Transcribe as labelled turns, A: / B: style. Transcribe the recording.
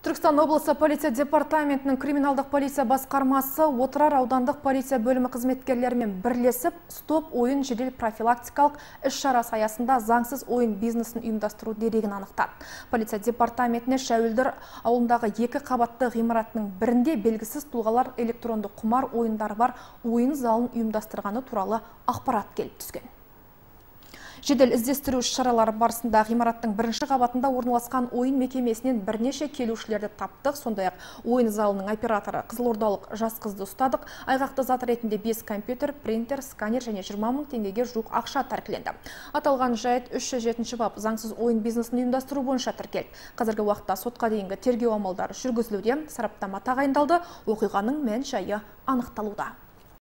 A: Түркістан облысы полиция департаментінің криминалдық полиция басқармасы Отырар аудандық полиция бөлімі қызметкерлерімен бірлесіп, стоп ойын жедел профилактикалық іс-шарасы аясында заңсыз ойын бизнесін ұйымдастыру дерегін анықтады. Полиция департаментіне Шәуілдір ауылындағы 2 қабатты ғимаратының бірінде белгісіз тұлғалар электронды құмар ойындары бар ойын залын ұйымдастырғаны туралы ақпарат келіп түскен. Жедел іздестіру шаралары барысында ғимараттың 1-ші қабатында орналасқан ойын мекемесінен бірнеше келушілерді таптық. Сондай-ақ ойын залының операторы қызылордалық жас қызды ұстадық. Айғақты зат ретінде 5 компьютер, принтер, сканер және 20 мың теңгеге жуық ақша тәркіленді. Аталған жайт 307 бап заңсыз ойын бизнесін ұйымдастыру бойынша тіркелді. Қазіргі уақытта сотқа дейінгі тергеу амалдары жүргізілуде, сараптама тағайындалды, оқиғаның мән-жайы анықталуда.